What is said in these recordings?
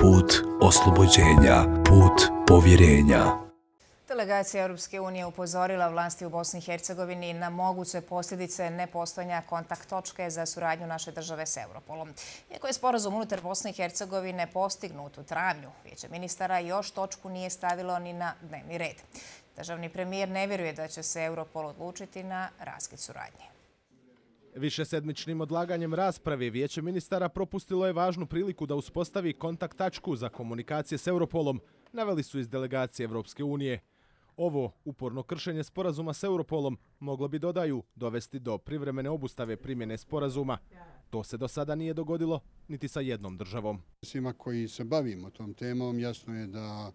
put oslobođenja, put povjerenja. Delegacija Europske unije upozorila vlasti u Bosni i Hercegovini na moguće posljedice nepostojanja kontakt točke za suradnju naše države s Europolom. Iako je sporazum unutar Bosne i Hercegovine postignut u travnju, Vijeće ministara još točku nije stavilo ni na dnevni red. Državni premijer ne vjeruje da će se Europol odlučiti na raskid suradnje. Višesedmičnim odlaganjem rasprave Vijeće ministara propustilo je važnu priliku da uspostavi kontakt tačku za komunikacije s Europolom, naveli su iz delegacije Europske unije. Ovo uporno kršenje sporazuma s Europolom moglo bi, dodaju, dovesti do privremene obustave primjene sporazuma. To se do sada nije dogodilo niti sa jednom državom. Svima koji se bavimo tom temom jasno je da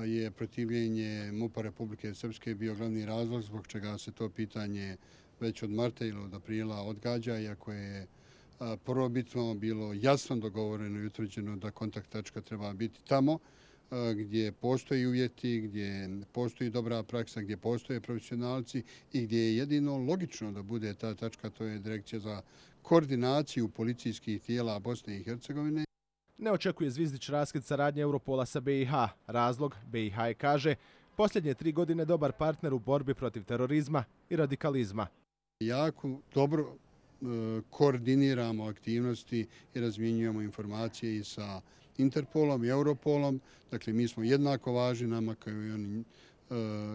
je protivljenje MUP-a Republike Srpske bio glavni razlog zbog čega se to pitanje već od marta ili od aprila odgađa, iako je prvobitno bilo jasno dogovoreno i utvrđeno da kontakt tačka treba biti tamo gdje postoji uvjeti, gdje postoji dobra praksa, gdje postoje profesionalci i gdje je jedino logično da bude ta tačka, to je Direkcija za koordinaciju policijskih tijela Bosne i Hercegovine. Ne očekuje Zvizdić raskid saradnje Europola sa BiH. Razlog, BiH je, kaže, posljednje 3 godine dobar partner u borbi protiv terorizma i radikalizma. Jako dobro koordiniramo aktivnosti i razmjenjujemo informacije i sa Interpolom i Europolom. Dakle, mi smo jednako važni nama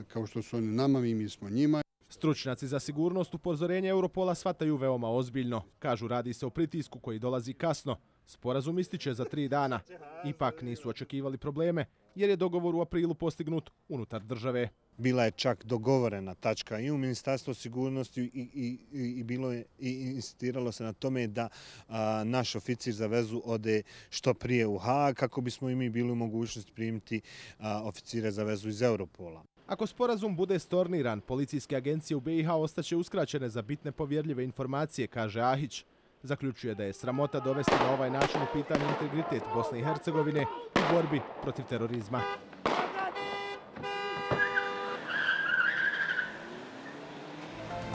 kao što su oni nama, mi smo njima. Stručnjaci za sigurnost upozorenje Europola shvataju veoma ozbiljno. Kažu, radi se o pritisku koji dolazi kasno. Sporazum ističe za 3 dana. Ipak nisu očekivali probleme jer je dogovor u aprilu postignut unutar države. Bila je čak dogovorena tačka i u Ministarstvu sigurnosti i insistiralo se na tome da naš oficir za vezu ode što prije u Haag kako bismo i mi bili u mogućnosti primiti oficire za vezu iz Europola. Ako sporazum bude storniran, policijske agencije u BiH ostaće uskraćene za bitne povjerljive informacije, kaže Ahić. Zaključuje da je sramota dovesti na ovaj način u pitanje integritet Bosne i Hercegovine u borbi protiv terorizma.